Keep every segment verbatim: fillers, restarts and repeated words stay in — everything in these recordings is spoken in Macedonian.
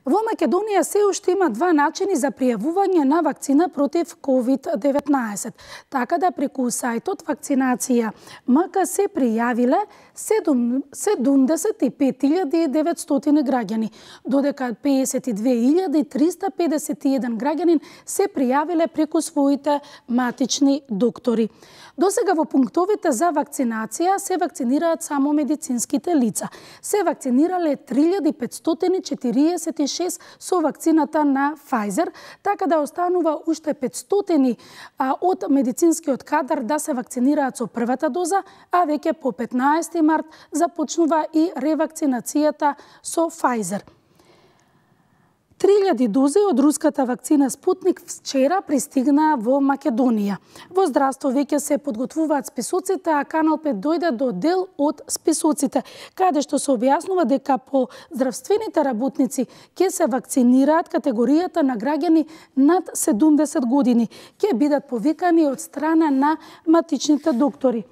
Во Македонија се уште има два начини за пријавување на вакцина против ковид деветнаесет. Така да преку сајтот Вакцинација МК се пријавиле седумдесет и пет илјади и деветстотини граѓани, додека пеесет и две илјади триста педесет и еден граѓанин се пријавиле преку своите матични доктори. Досега во пунктовите за вакцинација се вакцинираат само медицинските лица. Се вакцинирале три илјади петстотини четириесет и шест со вакцината на Pfizer, така да останува уште петстотини а, од медицинскиот кадар да се вакцинираат со првата доза, а веќе по петнаесети март започнува и ревакцинацијата со Pfizer. три илјади дози од руската вакцина Спутник вчера пристигнаа во Македонија. Во здравство веќе се подготвуваат списоците, а Канал пет дојде до дел од списоците, каде што се објаснува дека по здравствените работници ќе се вакцинираат категоријата на граѓани над седумдесет години, ќе бидат повикани од страна на матичните доктори.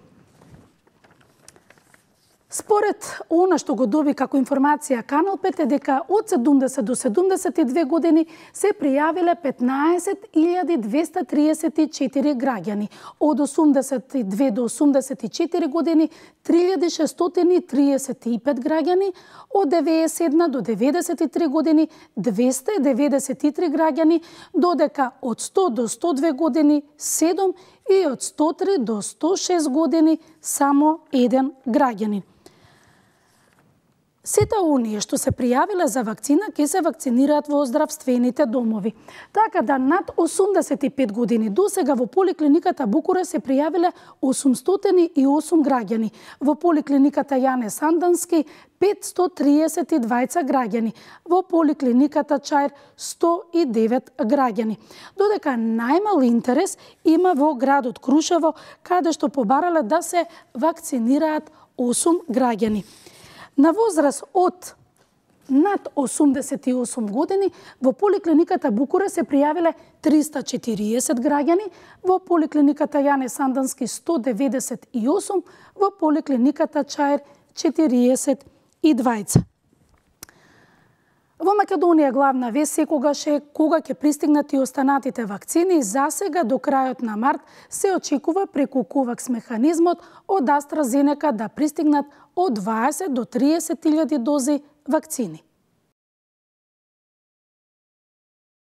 Според она што го доби како информација Канал пет е дека од седумдесет до седумдесет и две години се пријавиле петнаесет илјади двеста триесет и четири граѓани, од осумдесет и две до осумдесет и четири години три илјади шестстотини триесет и пет граѓани, од деветдесет и една до деветдесет и три години двеста и деветдесет и три граѓани, додека од сто до сто две години седум и од сто три до сто шест години само еден граѓанин. Сите оние што се пријавиле за вакцина ќе се вакцинираат во здравствените домови. Така да над осумдесет и пет години досега во поликлиниката Букурес се пријавиле осумстотини и осум граѓани, во поликлиниката Јане Сандански петстотини триесет и двајца граѓани, во поликлиниката Чаир сто и девет граѓани. Додека најмал интерес има во градот Крушево, каде што побарале да се вакцинираат осум граѓани. На возраст од над осумдесет и осум години во поликлиниката Букурес се пријавиле триста и четириесет граѓани, во поликлиниката Јане Сандански сто деветдесет и осум, во поликлиниката Чаир четириесет и двајца. Во Македонија главна вест секогаш е кога ќе пристигнат и останатите вакцини. Засега до крајот на март се очекува преку ковакс механизмот од AstraZeneca да пристигнат од дваесет до триесет илјади дози вакцини.